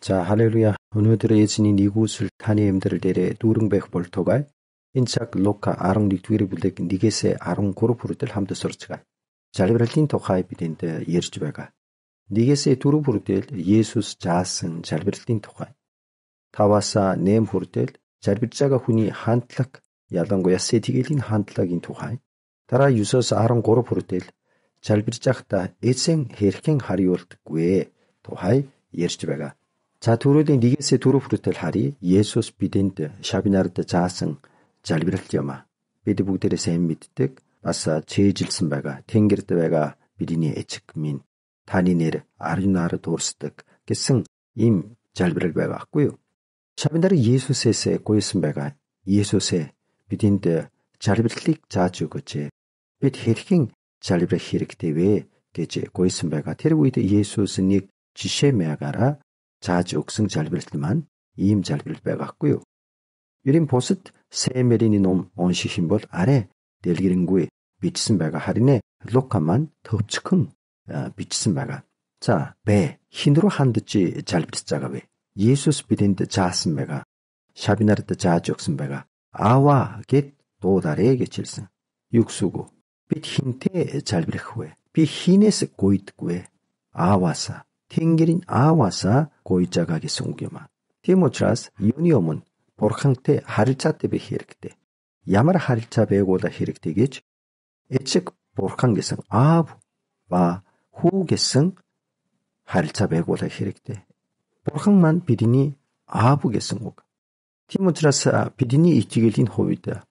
자, 할렐루야. 오늘들의 예수님 이곳을 타니 эм들을 데레 두릉백 볼토가 인착 로카 아롱 릭투이르 불덱 니게세 아롱 고로푸르들 함드 소르츠가 잘브랄틴 토카이 비딘데 예르주베가 니게세 두루푸르들 예수스 자슨 잘브랄틴 토카이 타와사 네임 후르들 잘비자가 훈이 한틀락 야단고야 세티겔린 한틀락인 토카이 따라 유서스 아롱 고로푸르들 잘비자다 에생 헤르킹 하리올트구에 토하이 예르주베가 자 두루딘 니게세 두루푸르텔 하리 예수스 비딘데 샤비나르데 자슨 잘비랄티어마 비디 북데레 셈 밑득 아싸 제질슨 바가 탱게르데 바가 비디니 에측민 다니네르 아르나르 도르스득 게승 임 잘비랄 바가 왔고요. 샤비나르 예수세세 고이슨 바가 예수세 비딘데 잘비랄릭 자주고제 비디 헤르킹 잘비랄 히르크데웨 게제 고이슨 바가 테르고이데 예수스닉 지셰메아가라 자주 옥승 잘비랄만 임 잘비랄 바가 왔고요. 유린 보스트 세메리니 놈 온시힌봇 아래 델기링구에 비치슨 바가 하리네 로카만 덥츠큰 비치슨 바가 자 배 흰으로 한듯지 잘비치자가 왜 예수스 비딘데 자슨 바가 샤비나르트 자적슨 바가 아와 겟 도다레 게칠슨 육수고 빛 흰테 잘비르후에 빛 흰에스 고이트구에 아와사 탱게린 아와사 고이자가게 송겨마 티모트라스 유니오문 보르캉테 하르차테베 히르크테 야마라 하르차 베고다 히르크테게치 에측 보르캉게성 아부 와 후게성 하르차 베고다 히르크테 보르캉만 비디니 아부게성 옥 티모트라스 비디니 이치겔린 호위다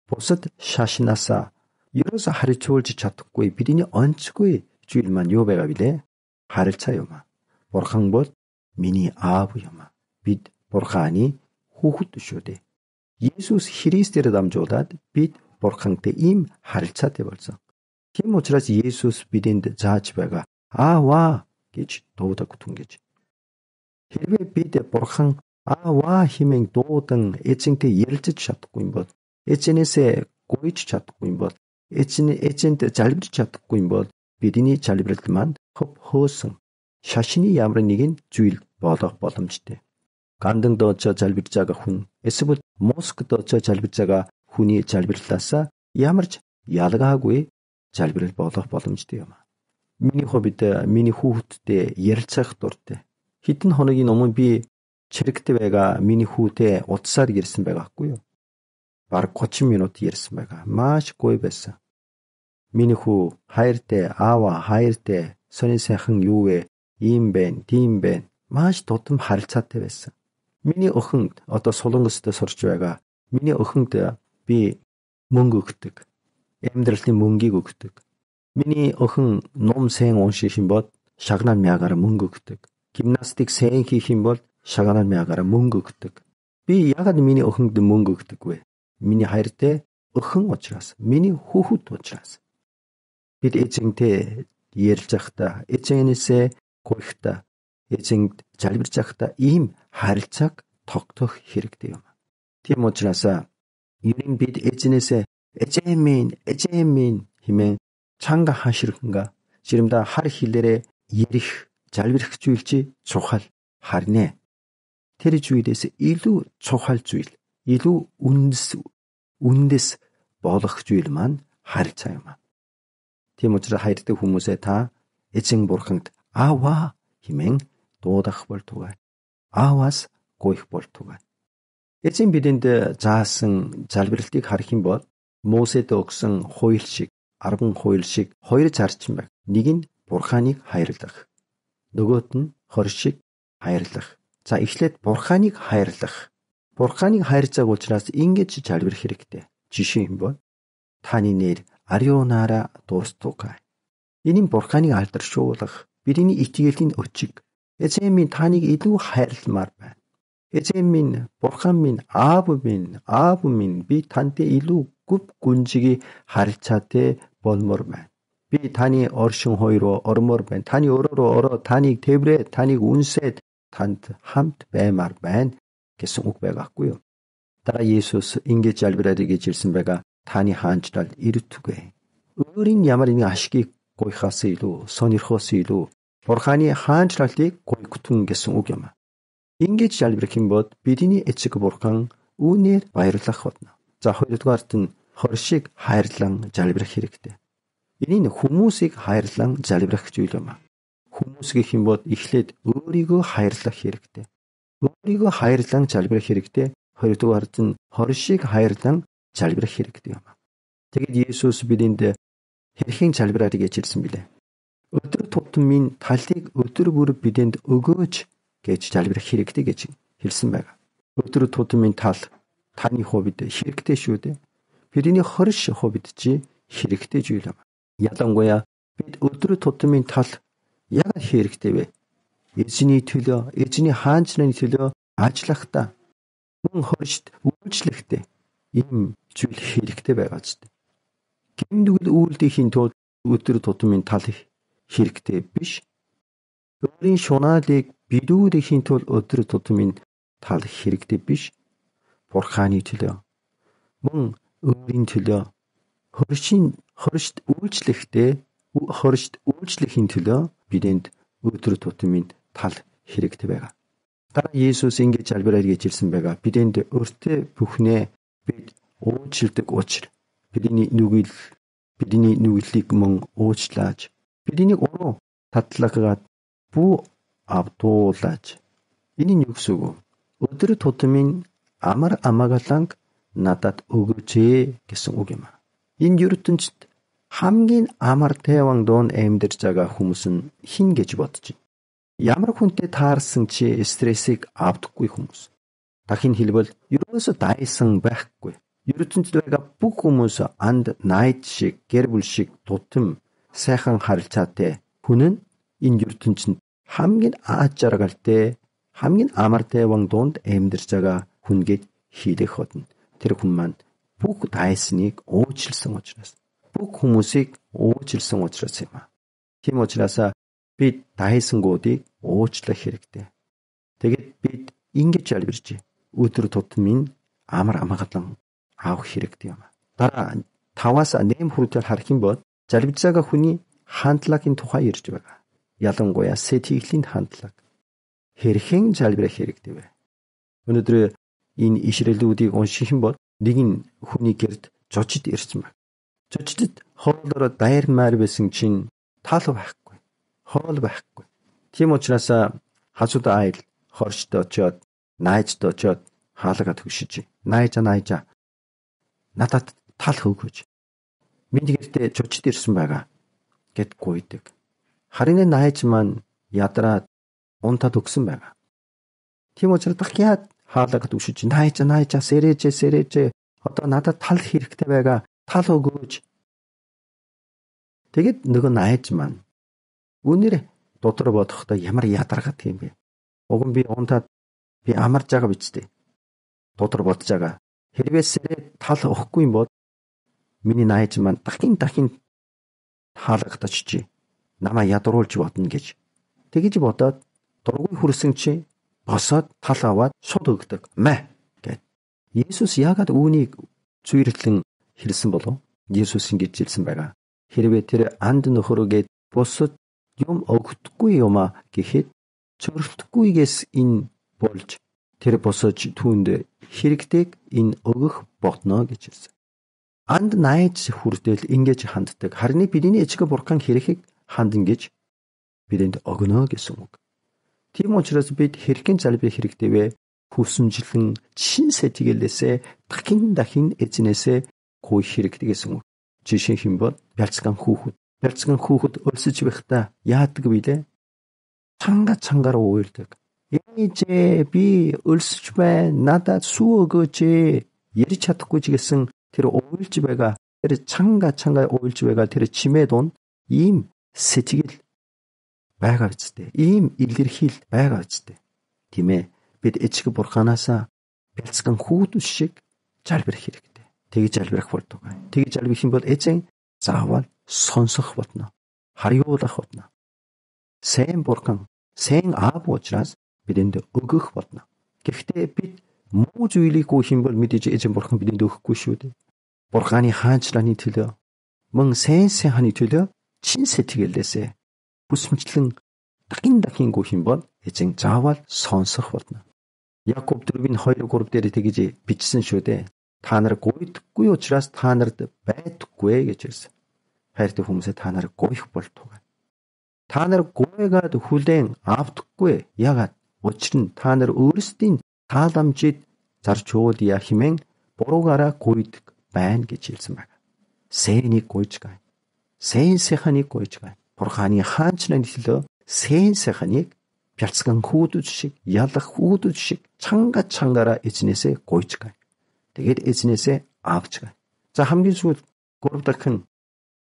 보스트 샤시나사 이로서 하르초올지 차특고의 비디니 언츠고의 주일만 요베가 비데 하르차요마 보르캉봇 미니 아부요마 빛 보르카니 후후뚜쇼데 예수스 히리스테르 담조다 빛 보르캉테 임 하르차테 벌써 티모치라스 예수스 비딘데 자치베가 아와 게치 도우다 구퉁게치 히르베 비데 보르캉 아와 히맹 도우등 에칭테 예르츠 샷고인벗 에체네세 고이치 샷고인벗 에첸테 잘비치 샷고인벗 비디니 잘비르트만 흡허승 샤신이 야므르니긴 주일 보덕 болом치테 간등 더저 잘비자가 훈 에스부 모스크 더저 잘비자가 훈이 잘비르다사 야머치 야다가하고의 잘비를 보덕 болом치테요마 미니 호비테 미니 후후테 예르착 돌테 히튼 호너기 너무 비 체르크테베가 미니 후테 옷살이 예르슨 베가 같고요 바로 코치 미노트 예르슨 베가 마시 고이베사 미니 후 하이르테 아와 하이르테 선인세 흥 유에 임벤 디임벤 마시 도tum 하르차테베사 미니 어흥 어떤 소동거스도 서르주야가 미니 어흥때 비 몽구 그득 엠들티 몽기고 그득 미니 어흥 놈생 온시힌벗 샤그난 미아가라 몽구 그득 김나스틱 생히 힘벗 샤가난 미아가라 몽구 그득 비 야가드 미니 어흥드 몽구 그득 왜 미니 하이르때 어흥 오치라스 미니 후후도 오치라스 비 에칭테 예르작다 에칭에니세 고이다 에칭 잘비르작다 임 하르착 톡톡 히릭데요마 티모치라사 유린 빛 에진에세 에제민 힘에 창가 하시르인가 지름다 하르힐레레 예리흐 잘비르흐 주일지 조할 하리네 테리 주일에서 일루 조할 주일 일루 운데스 보덕 주일만 하르차요마 티모치라 하이르테 후무세 다 에칭 보르캉트 아와 힘행 도닥 볼토가 아와스 고익 볼토가 에칭 비딘데 자승 잘비르티 가르힌 것 모세도 억성 호일식 아르붕 호일식 호일 자르침백 니긴 보르카닉 하이르даг нөгөөт нь хоршиг хайрлах за эхлээд бурханыг хайрлах бурханыг хайрцааг учраас ингэж залбирх хэрэгтэй жишээ юм бол таны нэр ариунара дуустука энэ бурханыг алдаршуулах бидний итгээлийн өчиг эзэн минь таныг илүү хайрламар байна эзэн минь бурхан минь аав минь би тантай илүү гүв гүнжиги харилцаатай болмоор байна би таны оршин хоёроо ормоор байна таны өрөөрөө ороо таныг тэврээ таныг үнсээд танд хамт баймаар байна гэсэн үг байгаахгүй юу дараа Есүс ингэж залбираад гэж ирсэн байгаа таны хаанчлал ирэтүгэ өөрийн ямар нэгэн ашигыг гуйхаас илүү сонирхоос илүү бурханы хаанчлалыг гуйгтун гэсэн үг юм Ингэж залбирах юм бол бидний эцэг бурхан үүнээр баярлах болно. За хоёрдугаарт нь хоршиг хайрлан залбирах хэрэгтэй. Энэ нь хүмүүсийг хайрлан залбирах зүйл юм. Хүмүүс гэх юм бол эхлээд өөрийгөө хайрлах хэрэгтэй. Өөрийгөө хайрлан залбирах хэрэгтэй. Хоёрдугаарт нь хоршиг хайрлан залбирах хэрэгтэй юм. Тэгэд Есүс бидэнд хэрхэн залбираарыг хэлсэн билээ. Өдөр тутмын талыг өдөр бүр бидэнд өгөөч гэж залбирах хэрэгтэй гэж хэлсэн байна. Өдөр тутмын тал таны хувьд хэрэгтэй шүү дээ. Бидний хорш хувьд чи хэрэгтэй зүйл юм. Ялангуяа бид өдөр тутмын тал яг хэрэгтэй вэ? Эзний төлөө, эзний хаанчны төлөө ажиллахдаа мөн хоршд үйлчлэхдээ ийм зүйл хэрэгтэй байгаа ч. Гэмдгэл үйлдэхийн тулд өдөр тутмын тал хэрэгтэй биш. Өөрийн шунаалыг бидүүдэхийн тулд өдөр тутмын тал хэрэгтэй биш. Бурханы төлөө мөн өөрийн төлөө хоршд үйлчлэхийн төлөө бидэнд өдөр тутмын тал хэрэгтэй байгаа. Дараа Есүс ингэж залбираад хэлсэн байгаа. Бидэнд өртөө бүхнээ бид уучлдаг учраас бидний нүглийг мөн уучлаач. Бидний уруу татлагаад бүү авдуулаач. Энэ нь юу гэсэн үг вэ? Өдөр тутмын амар амагаланг надад өгөөч гэсэн үг юм. Энэ ертөнцид хамгийн амар тайван доон амьдарч байгаа хүмүүс нь хин гэж бодож байна. Ямар хүнтэй таарсан чи стрессийг авдаггүй хүмүүс. Дахин хэлбэл ерөөсө дайсан байхгүй. ертөнцид байгаа бүх хүмүүс анд найд шиг, гэр бүл шиг тутам сайхан харилцаатай хүн нь энэ ертөнцид хамгийн аз жаргалтай, хамгийн амар тайван донд амьдарч байгаа хүн гэж хийх hodно. Тэр хүн маань бүх дайсныг уучлсан учраас, бүх хүмүүсийг уучлсан учраас юм а. Тийм учраас бид дайсангуудыг уучлах хэрэгтэй. Тэгэд бид ингэж залбирч өдөр тутмын амар амгалан авах хэрэгтэй юм. Дараа 5-аас 8 хүртэл харах юм бол залбирж байгаа хүний хандлагын тухай ярьж байгаа. Ялангуяа сэтгэлийн хандлага. Хэрхэн залбирах хэрэгтэй вэ? Өнөөдөр энэ ишрэлүүдийг унших юм бол нэг нь хүний гэрд жожид ирсэн баг. Жожидд хоолоор дайрмаар байсан чинь тал байхгүй, хоол байхгүй. Тийм учраас хажууд айл хоршд очоод, найзд очоод хаалгаа төгшиж, найза надад тал хөвгөж. Миний гэртээ жожид ирсэн байгаа гэд гуйдаг. Харин найз маань ядраад унтаад өгсөн байгаа. Тийм учраас дахиад хаалгаа төгшиж, найза сэрэж одоо надад тал хэрэгтэй байгаа. Тал өгөөч. Тэгэд нөгөө найз маань үнээр дотор бодохдоо ямар ядаргаад юм бэ? Уг нь би унтаад би амарж байгаа биз дээ. Дотор бодож байгаа. Хэрвээ сэрээ тал өгөхгүй юм бол миний найз маань дахин хаалгатаж чи намаа ядруулж бодно гэж. Тэгэж бодоод дургүй хүрсэн чи босоод тал аваад шууд өгдөг. Мэ гэд. Есүс яагаад үүнийг зүйрлэн хэлсэн болов? Есүс ингэж хэлсэн байгаа. Хэрвээ тэр анд нөхөрөгээд босод юм өгөхгүй юмаа гэхэд чөрлөдөхгүйгээс энэ болж тэр босож түүнд хэрэгтэйг энэ өгөх болно гэж хэлсэн. Анд найз хүртэл ингэж ханддаг. Харин бидний эцэг бурхан хэрэг хандан гэж бидэнд өгнө гэсэн үг. Тийм учраас бид хэрхэн залбирах хэрэгтэй вэ? Хүсэмжлэн чин сэтгэлээсээ дахин эзнээсээ гуйх хэрэгтэй гэсэн үг. Жишээ хэмбэл бялцган хүүхэд өлсөж байхдаа яадаг вүлээ? Цангаар уйлдаг. Ээжээ би өлсөж байна. Надад сүү өгөөч. Ярьж чадахгүй ч гэсэн тэр уйлж байгаа, тэр цангаа уйлж байгаа тэр чимээ дунд ийм сэтгэл байгаа үстэй. Ийм илэрхийл байгаа үстэй. Тийм ээ. Бид эцэг бурханаасаа бялцган хүүхэд шиг залбирах хэрэгтэй. Тэгж залбирах болдог. Тэгж залбирх юм бол эзэн заавал сонсох болно. Харьуулах болно. Сайн бурхан, сайн аав учраас бидэнд өгөх болно. Гэхдээ бид муу зүйлийг гуйх юм бол мэдээж эзэн бурхан бидэнд өгөхгүй шүү дээ. Бурханы хаанчлалын төлөө, мөн сайн ханы төлөө чин сэтгэлээсээ бүсмжлэн дахин гуйх юм бол эзэн заавал сонсох болно. Якоб 4:2-3 дээр тэгж бичсэн шүү дээ. Та нар гуйдаггүй учраас та нарт байдаггүй гэж хэлсэн. Хайртай хүмүүсээ та нар гуйх болтугай. Та нар гуйгаад хүлээн авдаггүй. Ягаад? Учир нь та нар өөрсдийн тааламжид зарж уудъя хэмээн буруугаараа гуйдаг байна гэж хэлсэн байна. Сэнийг гуйж гай. Сэн сэханийг гуйж гай. Бурханы хаанчны төлөө сэн сэханийг бяцхан хүүдүүд шиг, ялах хүүдүүд шиг чангаараа эзнээсээ гуйж гай. Тэгээд эзнээсээ авч гай. За хамгийн сүүлд 3 дахин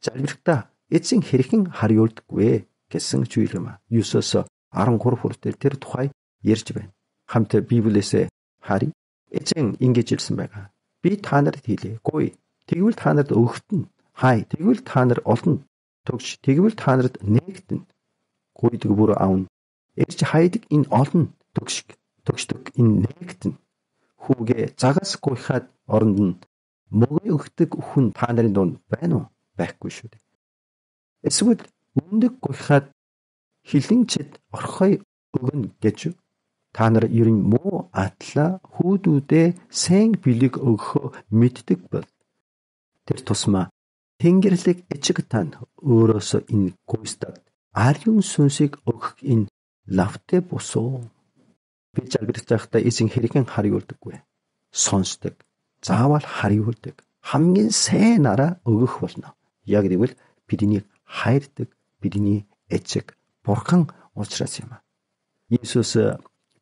залбирхдаа эзэн хэрхэн хариулдаггүй гэсэн зүйлмаа 9-оос 13 хүртэл тэр тухай ярьж байна. Хамт Библиэсээ харъя. Эзэн ингэж хэлсэн байгаа. Би та нарт хэлье. Гуй. Тэгвэл та нарт өгтөн. Хай. Тэгвэл та нар олно. Төгш. Тэгвэл та нарт нээгдэн. Гуйдаг бүр аавн. Эрж хайдаг энэ олно. Төгшдөг энэ нээгдэн. Хүүгээ загас гуйхад оронд нь мөгөө өгдөг хүн та нарын дунд байна уу? Байхгүй шүү дээ. Эсвэл өндөг гуйхад хилэнчэд орхой өгнө гэж та нар ерөн муу атла хүүдүүдээ сэн бэлэг өгөхөө мэддэг бол тэр тусмаа Тэнгэрлэг эцэг тань өөрөөсөө энэ гуйстад ариун сүнсийг өгөх энэ лавтэ босоо. Би залбирч байхдаа эзэн хэрхэн хариулдаггүй. Сонсдог. Заавал хариулдаг. Хамгийн сайнараа өгөх болно. Яг гэвэл бидний хайрдаг бидний эцэг бурхан учраас юм. Иесус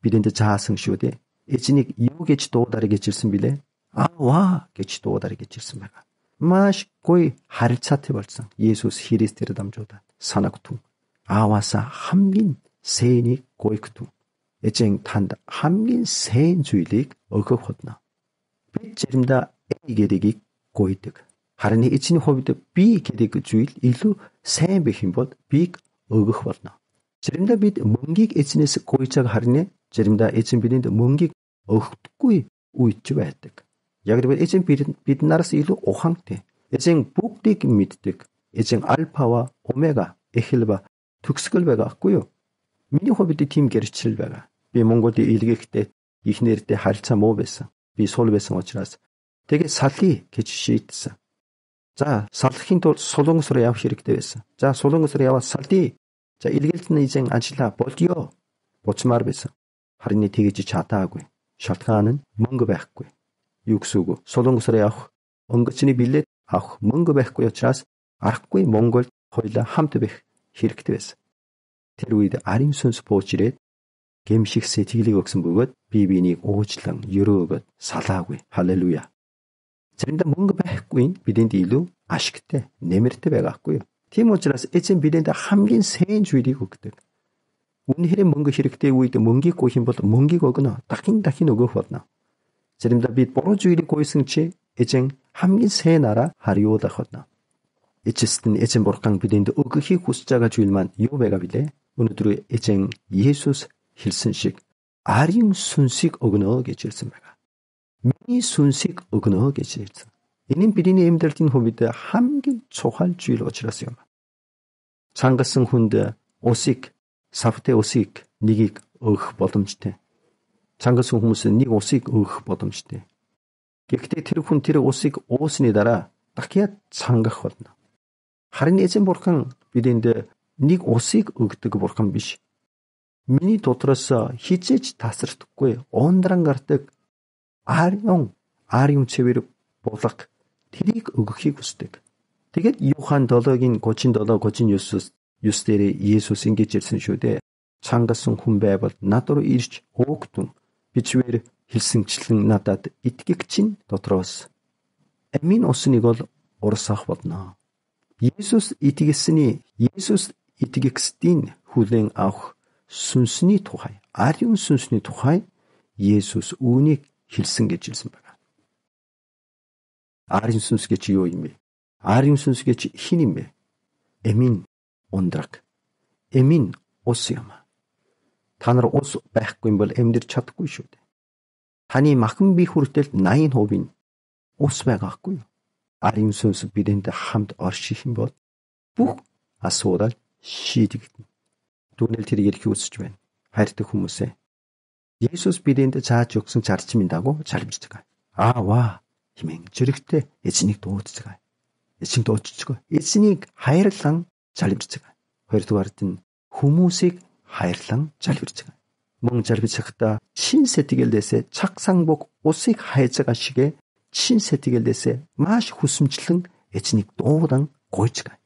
бидэнд заасан шүү дээ. Эзнийг юу гэж дуудаарай гэж хэлсэн бilé? Аава гэж дуудаарай гэж хэлсэн байна. Маш гоё харилцаатай болсон. Иесус Христээр дамжуулаад санагтун. Ааваасаа хамгийн сэнийг гуйгтун. Эзэн танд хамгийн сэн зүйлийг өгөх болно. Бид заримдаа A гэдгийг гуйдаг. Харин эзний хувьд B гэдэг зүйл илүү сайн байх юм бол Bийг өгөх болно. Заримдаа бид мөнгийг эзнээс гуйжааг харна. Заримдаа эзэн бидэнд мөнгийг өгөхгүй үйч байдаг. Яг гэвэл эзэн бид нараас илүү ухаантай. Эзэн бүгдийг мэддэг. Эзэн альфава, омега, эхэлба, төгсгөл байгаа хгүй юу? Миний хувьд тийм гэрчлэл байгаа. Би Монголд илгээхдээ ихнэртэй харилцаа муу байсан. Би сул байсан учраас тэгээ салхий гэж шийдсэн. За салххийн тулд Солонгос руу явах хэрэгтэй байсан. За Солонгос руу яваад салдий. За илгээлтний эзэн ажиллаа болдё. Буцмаар байсан. Харин тэгэж чадаагүй. Шалтгаан нь мөнгө байхгүй. Юу гэсэн үг вэ? Солонгос руу явах онгоцны билет авах мөнгө байхгүй учраас арахгүй Монголд хоёулаа хамт байх хэрэгтэй байсан. Тэр үед ариун сүнс бууж ирээд гэмших сэтгэлийг өгсөн бөгөөд би биенийг уучлан өрөөгöd салаагүй. Халелуя. Заримдаа мөнгө байхгүй бидэнд илүү ашигтай, нэмэртэй байгаахгүй юу? Тийм учраас эзэн бидэнд хамгийн сайн зүйлийг өгдөг. Үнэхээр мөнгө хэрэгтэй үед мөнгийг гуйх юм бол мөнгийг өгнө. Дахин өгөх болно. Заримдаа бид буруу зүйлийг гуйсан чи эзэн хамгийн сайнараа хариулах болно. Эзэн бурхан бидэнд өгөхийг хүсэж байгаа зүйл маань юу байгаа билээ? Өнөөдөр эзэн Есүс хэлсэн шиг ариун сүнсийг өгнө гэж хэлсэн байна. Миний сүнсийг өгнө гэж хэлсэн. Энэ нь бидний амьдралын хувьд хамгийн чухал зүйл учраас юм. Цангасан хүнд усыг, савтай усыг нэгийг өгөх боломжтой. Цангасан хүмүүс нэг усыг өгөх боломжтой. Гэхдээ тэр хүн тэр усыг уусны дараа дахиад цангах болно. Харин эзэн бурхан бидэнд нэг усыг өгдөг бурхан биш. Миний дотроос хизээж тасрахгүй ундран гардаг ариун цэвэр булга тэрийг өгөхийг хүсдэг. Тэгэд Юхан 7-гийн 37-39 дээр Иесус ингэж хэлсэн шүү дээ. Цангасан хүн байвал над руу ирж хөөгтөн бичвэр хэлсэнчлэн надад итгэгч нь дотроос амин усныг бол урсах болно. Иесус итгэгчдийн хүлээн авах сүнсний тухай, ариун сүнсний тухай Иесус үүнийг хэлсэн гэж хэлсэн байна. Ариун сүнс гэж юу юм бэ? Ариун сүнс гэж хин юм бэ? Эмин ундраг. Эмин ус юм. Та нар ус байхгүй юм бол амьдрч чадахгүй шүү дээ. Таны махан бие хүртэл 80% ус байгаагүй. Ариун сүнс бидэнд хамт орших юм бол бүх асуудал шийдэгдэнэ. Түүнэл тэрийг хүсэж байна. Хайртай хүмүүсээ Есүс бидэнд зааж өгсөн зарчмын дагуу залбирцгаая. Аава хэмээн зэрэгтэй эзнийг дуудцгаая. Эзэн дуудцгаая. Эзнийг хайрлан залбирцгаая. Хоёрдугаарт нь хүмүүсийг хайрлан залбирцгаая. Мөн залбирцахдаа чин сэтгэлээсээ цагсанбог усыг хайцгаа шигэ чин сэтгэлээсээ маш хүсэмжлэн эзнийг дуудан гуйцгаая.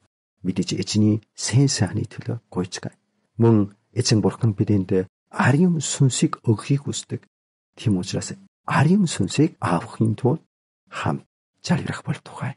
Мэдээж эзний сэн сайхны төлөө гуйцгаая. Мөн эзэн бурхан бидэнд ариун сүнсийг өгөхийг хүсдэг. Тийм учраас ариун сүнсийг авахын тулд хамт залбирах болтугай.